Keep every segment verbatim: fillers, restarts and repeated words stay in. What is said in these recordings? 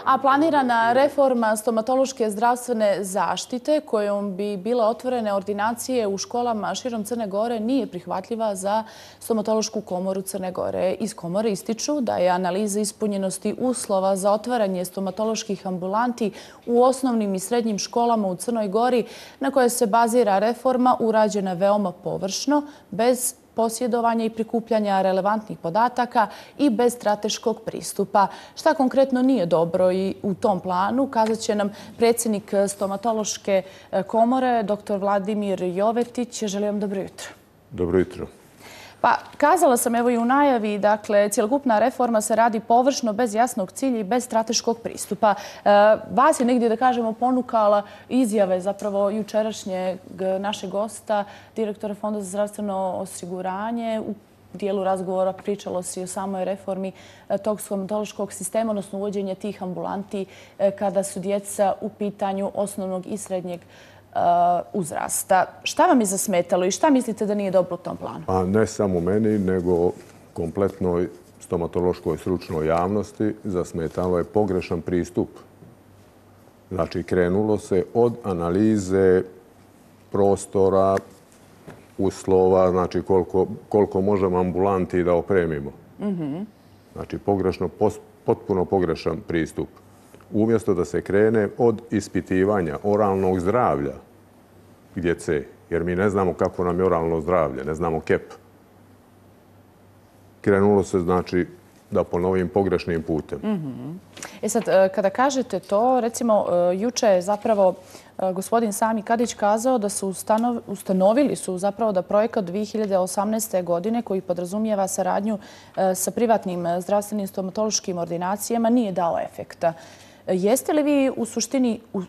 A planirana reforma stomatološke zdravstvene zaštite kojom bi bile otvorene ordinacije u školama širom Crne Gore nije prihvatljiva za stomatološku komoru Crne Gore. Iz komore ističu da je analiza ispunjenosti uslova za otvaranje stomatoloških ambulanti u osnovnim i srednjim školama u Crnoj Gori na koje se bazira reforma urađena veoma površno, bez posjedovanja i prikupljanja relevantnih podataka i bez strateškog pristupa. Šta konkretno nije dobro i u tom planu kazat će nam predsjednik stomatološke komore, doktor Vladimir Jovetić. Želim vam dobro jutro. Dobro jutro. Pa, kazala sam evo i u najavi, dakle, cjelokupna reforma se radi površno, bez jasnog cilja i bez strateškog pristupa. E, vas je negdje, da kažemo, ponukala izjave zapravo jučerašnjeg našeg gosta, direktora Fonda za zdravstveno osiguranje. U dijelu razgovora pričalo se i o samoj reformi tog stomatološkog sistema, odnosno uvođenje tih ambulanti kada su djeca u pitanju osnovnog i srednjeg uzrasta. Šta vam je zasmetalo i šta mislite da nije dobro u tom planu? A ne samo meni, nego kompletnoj stomatološkoj stručnoj javnosti zasmetalo je pogrešan pristup. Znači, krenulo se od analize prostora, uslova, znači koliko, koliko možemo ambulanti da opremimo. Mm-hmm. Znači, pogrešno, potpuno pogrešan pristup. Umjesto da se krene od ispitivanja oralnog zdravlja djece, jer mi ne znamo kako nam je oralno zdravlje, ne znamo kep. Krenulo se, znači, da ponovim, pogrešnim putem. Mm-hmm. E sad, kada kažete to, recimo, juče je zapravo gospodin Sami Kadić kazao da su ustanov, ustanovili su zapravo da projekat dvije hiljade osamnaeste. godine koji podrazumijeva saradnju sa privatnim zdravstvenim stomatološkim ordinacijama nije dao efekta. Jeste li vi u suštini u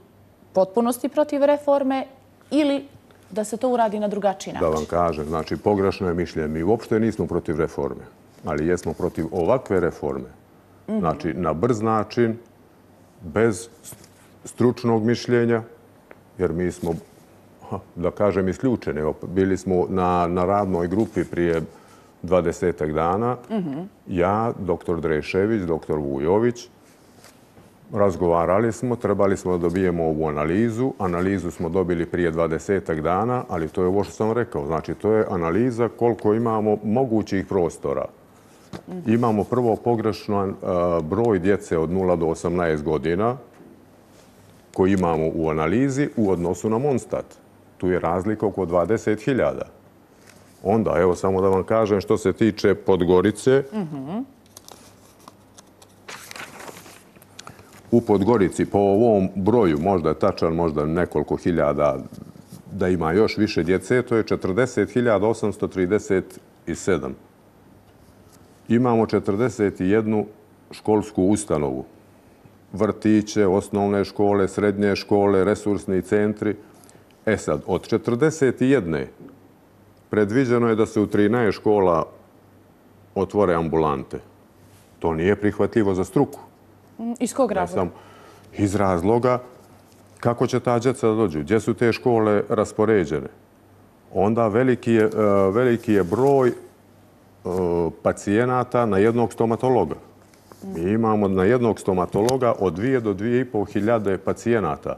potpunosti protiv reforme ili da se to uradi na drugačiji način? Da vam kažem, znači pogrešno je mišljenje. Mi uopšte nismo protiv reforme, ali jesmo protiv ovakve reforme. Mm-hmm. Znači na brz način, bez stručnog mišljenja, jer mi smo, da kažem, isključeni. Bili smo na, na radnoj grupi prije dvadesetak dana. Mm-hmm. Ja, doktor Drešević, doktor Vujović, razgovarali smo, trebali smo da dobijemo ovu analizu. Analizu smo dobili prije dvadesetak dana, ali to je ovo što sam rekao. Znači, to je analiza koliko imamo mogućih prostora. Mm-hmm. Imamo prvo pogrešan uh, broj djece od nula do osamnaest godina koji imamo u analizi u odnosu na Monstat. Tu je razlika oko dvadeset hiljada. Onda, evo samo da vam kažem što se tiče Podgorice. Mm-hmm. U Podgorici po ovom broju, možda je tačan, možda nekoliko hiljada, da ima još više djece, to je četrdeset hiljada osamsto trideset sedam. Imamo četrdeset jednu školsku ustanovu. Vrtiće, osnovne škole, srednje škole, resursni centri. E sad, od četrdeset jedne predviđeno je da se u trinaest škola otvore ambulante. To nije prihvatljivo za struku. Iz kog razloga? Iz razloga kako će ta djeca da dođu, gdje su te škole raspoređene. Onda veliki je, veliki je broj pacijenata na jednog stomatologa. Mi imamo na jednog stomatologa od dvije do dvije i pol hiljade pacijenata,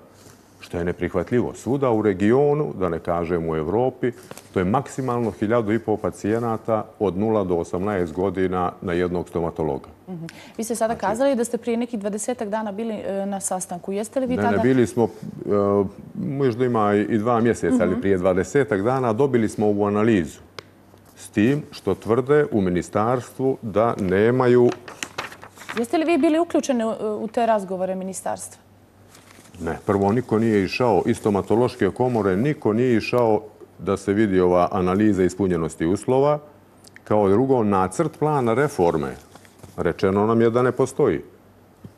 što je neprihvatljivo. Svuda u regionu, da ne kažem u Evropi, to je maksimalno hiljadu i pol pacijenata od nula do osamnaest godina na jednog stomatologa. Mm-hmm. Vi ste sada znači, kazali da ste prije nekih dvadesetak dana bili e, na sastanku. Jeste li vi ne, tada... Ne, bili smo, e, možda ima i dva mjeseca, mm-hmm. ali prije dvadesetak dana dobili smo ovu analizu. S tim što tvrde u ministarstvu da nemaju... Jeste li vi bili uključeni u te razgovore ministarstva? Ne, prvo niko nije išao iz stomatološke komore, niko nije išao da se vidi ova analiza ispunjenosti uslova. Kao drugo, nacrt plana reforme. Rečeno nam je da ne postoji.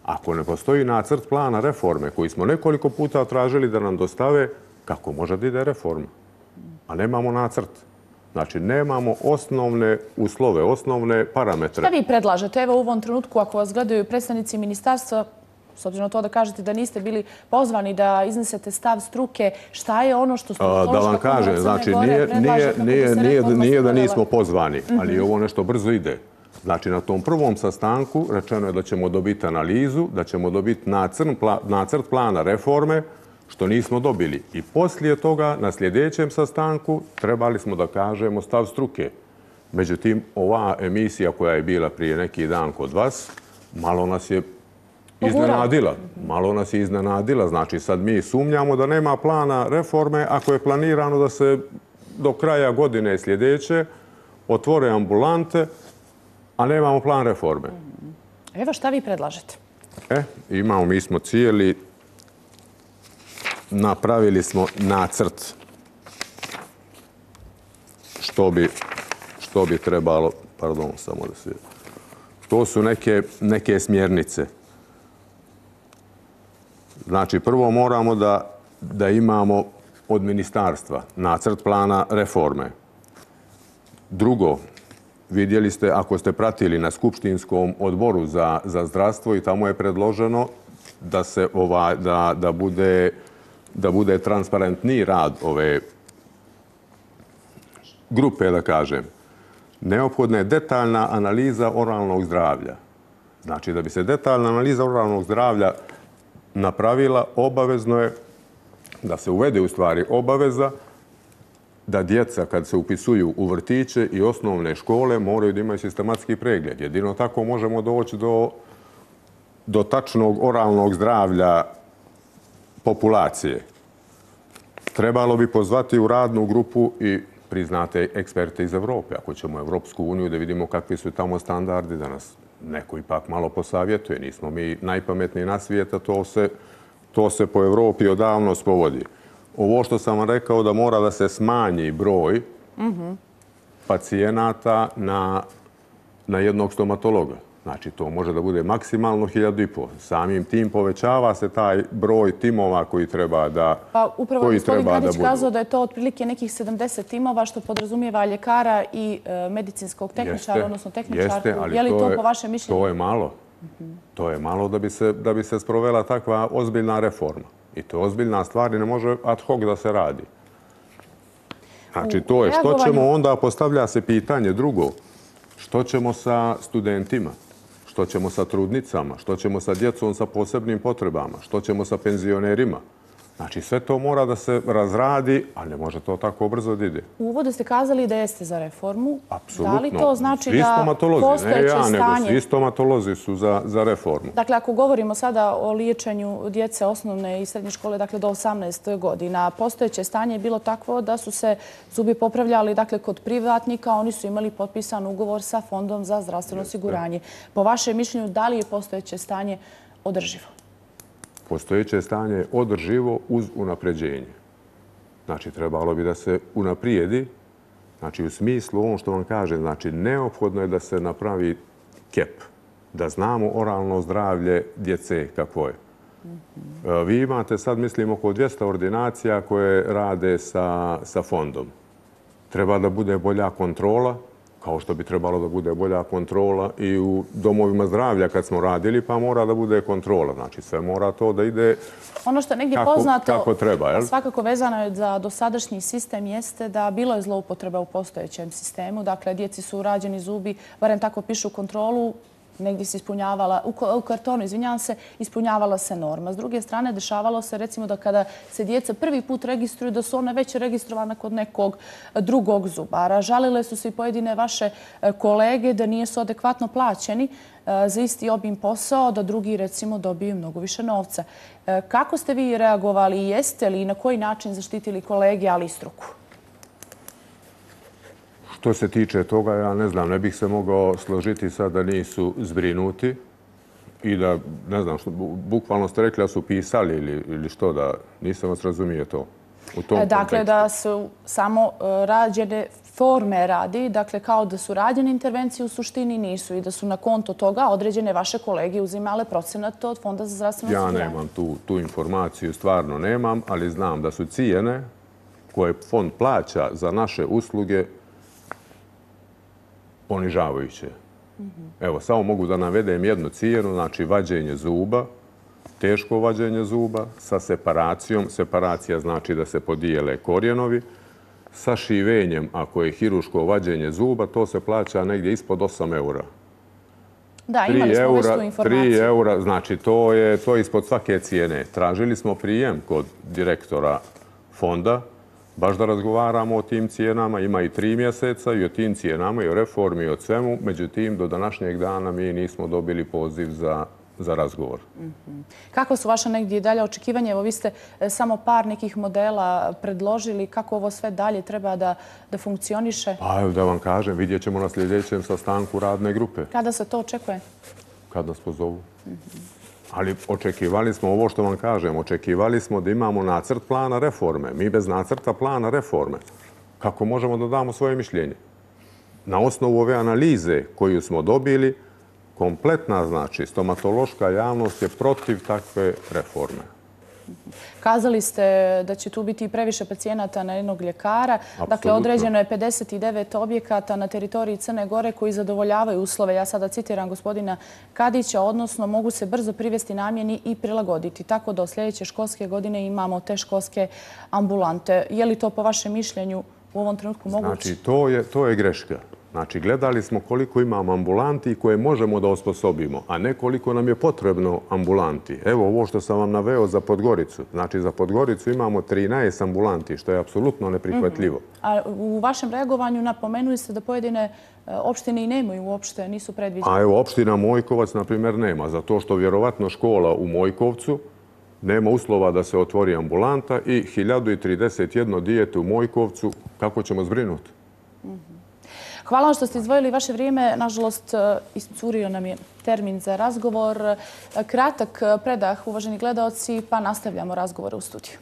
Ako ne postoji nacrt plana reforme, koji smo nekoliko puta tražili da nam dostave, kako može da ide reforma? A nemamo nacrt. Znači, nemamo osnovne uslove, osnovne parametre. Šta vi predlažete? Evo u ovom trenutku, ako vas gledaju predstavnici ministarstva, s obzirom na to da kažete da niste bili pozvani da iznesete stav struke, šta je ono što stomatološka komora Crne Gore predlaže kako bi se reforma sprovela? Nije da nismo pozvani, ali ovo nešto brzo ide. Znači, na tom prvom sastanku rečeno je da ćemo dobiti analizu, da ćemo dobiti nacrt plana reforme, što nismo dobili. I poslije toga, na sljedećem sastanku, trebali smo da kažemo stav struke. Međutim, ova emisija koja je bila prije neki dan kod vas, malo nas je iznenadila. Malo nas je iznenadila. Znači, sad mi sumnjamo da nema plana reforme ako je planirano da se do kraja godine sljedeće otvore ambulante, a nemamo plan reforme. Evo šta vi predlažete? E, imamo, mi smo cijeli, napravili smo nacrt što bi, što bi trebalo, pardon, samo da se... To su neke, neke smjernice. Znači, prvo moramo da, da imamo od ministarstva nacrt plana reforme. Drugo, vidjeli ste, ako ste pratili na Skupštinskom odboru za, za zdravstvo i tamo je predloženo da, se ova, da, da, bude, da bude transparentniji rad ove grupe, da kažem. Neophodna je detaljna analiza oralnog zdravlja. Znači, da bi se detaljna analiza oralnog zdravlja napravila, obavezno je da se uvede u stvari obaveza da djeca kad se upisuju u vrtiće i osnovne škole moraju da imaju sistematski pregled. Jedino tako možemo doći do, do tačnog oralnog zdravlja populacije. Trebalo bi pozvati u radnu grupu i priznate eksperte iz Evrope. Ako ćemo u Evropsku uniju da vidimo kakvi su tamo standardi, da nas neko ipak malo posavjetuje. Nismo mi najpametniji na svijeta, to se, to se po Evropi odavno spovodi. Ovo što sam vam rekao da mora da se smanji broj mm-hmm. pacijenata na, na jednog stomatologa. Znači, to može da bude maksimalno hiljadu i pol. Samim tim povećava se taj broj timova koji treba da Pa upravo gospodin Kadić kazao da je to otprilike nekih sedamdeset timova, što podrazumijeva ljekara i e, medicinskog tehničara, odnosno tehničarku. Jeste, ali je li to, to je, po vašem mišljenju? To je malo. Mm-hmm. To je malo da bi, se, da bi se sprovela takva ozbiljna reforma. I to je ozbiljna stvar i ne može ad hoc da se radi. Znači, to je što ćemo onda, postavlja se pitanje drugo, što ćemo sa studentima? Što ćemo sa trudnicama, što ćemo sa djecom sa posebnim potrebama, što ćemo sa penzionerima. Znači, sve to mora da se razradi, ali ne može to tako brzo da ide. U uvodu ste kazali da jeste za reformu. Apsolutno. Da li to znači svi da postojeće ne ja, stanje... nego svi stomatolozi su za, za reformu. Dakle, ako govorimo sada o liječenju djece osnovne i srednje škole, dakle do osamnaest godina, postojeće stanje je bilo takvo da su se zubi popravljali dakle, kod privatnika, oni su imali potpisan ugovor sa Fondom za zdravstveno osiguranje. Po vašem mišljenju, da li je postojeće stanje održivo? Postojeće stanje je održivo uz unapređenje. Znači, trebalo bi da se unaprijedi, znači u smislu ovom što vam kažem, znači neophodno je da se napravi kep, da znamo oralno zdravlje djece kakvo je. Mm-hmm. Vi imate sad, mislim, oko dvjesto ordinacija koje rade sa, sa fondom. Treba da bude bolja kontrola, kao što bi trebalo da bude bolja kontrola i u domovima zdravlja kad smo radili, pa mora da bude kontrola. Znači, sve mora to da ide ono što je negdje kako, poznato, kako treba. Jel? Svakako vezano je za dosadašnji sistem jeste da bilo je zloupotreba u postojećem sistemu. Dakle, djeci su urađeni zubi, barem tako pišu kontrolu, negdje se ispunjavala, u kartonu, izvinjavam se, ispunjavala se norma. S druge strane, dešavalo se recimo da kada se djeca prvi put registruju, da su ona već registrovana kod nekog drugog zubara. Žalile su se i pojedine vaše kolege da nisu adekvatno plaćeni za isti obim posao, da drugi recimo dobiju mnogo više novca. Kako ste vi reagovali i jeste li i na koji način zaštitili kolege, ali i struku? Što se tiče toga, ja ne znam, ne bih se mogao složiti sad da nisu zbrinuti i da, ne znam, što, bukvalno ste rekli da su pisali ili, ili što, da nisam vas razumije to. U tom dakle, kontekstu. Da su samo rađene forme radi, dakle, kao da su rađene intervencije u suštini nisu i da su na konto toga određene vaše kolege uzimale procenat od Fonda za zdravstveno osiguranje. Ja nemam tu, tu informaciju, stvarno nemam, ali znam da su cijene koje fond plaća za naše usluge ponižavajuće. Mm-hmm. Evo, samo mogu da navedem jednu cijenu, znači vađenje zuba, teško vađenje zuba sa separacijom. Separacija znači da se podijele korijenovi. Sa šivenjem, ako je hiruško vađenje zuba, to se plaća negdje ispod osam eura. Da, imali smo već tu informaciju. tri eura, znači to je, to je ispod svake cijene. Tražili smo prijem kod direktora fonda, baš da razgovaramo o tim cijenama. Ima i tri mjeseca i o tim cijenama i o reformi i o svemu. Međutim, do današnjeg dana mi nismo dobili poziv za za razgovor. Kako su vaše negdje dalje očekivanje? Evo, vi ste samo par nekih modela predložili. Kako ovo sve dalje treba da, da funkcioniše? Pa evo da vam kažem, vidjet ćemo na sljedećem sastanku radne grupe. Kada se to očekuje? Kad nas pozovu. Ali očekivali smo ovo što vam kažem. Očekivali smo da imamo nacrt plana reforme. Mi bez nacrta plana reforme. Kako možemo da damo svoje mišljenje? Na osnovu ove analize koju smo dobili, kompletna, znači, stomatološka javnost je protiv takve reforme. Kazali ste da će tu biti previše pacijenata na jednog ljekara. Apsolutno. Dakle, određeno je pedeset devet objekata na teritoriji Crne Gore koji zadovoljavaju uslove. Ja sada citiram gospodina Kadića, odnosno mogu se brzo privesti namjeni i prilagoditi. Tako da od sljedeće školske godine imamo te školske ambulante. Je li to po vašem mišljenju u ovom trenutku moguće? Znači, to je, to je greška. Znači, gledali smo koliko imamo ambulanti koje možemo da osposobimo, a ne koliko nam je potrebno ambulanti. Evo ovo što sam vam naveo za Podgoricu. Znači, za Podgoricu imamo trinaest ambulanti, što je apsolutno neprihvatljivo. A u vašem reagovanju napomenuli ste da pojedine opštine i nemaju uopšte, nisu predviđene. A evo, opština Mojkovac, na primjer, nema. Zato što vjerovatno škola u Mojkovcu nema uslova da se otvori ambulanta i hiljadu trideset jedno dijete u Mojkovcu, kako ćemo zbrinuti? Hvala vam što ste izdvojili vaše vrijeme. Nažalost, iscurio nam je termin za razgovor. Kratak predah, uvaženi gledaoci, pa nastavljamo razgovore u studiju.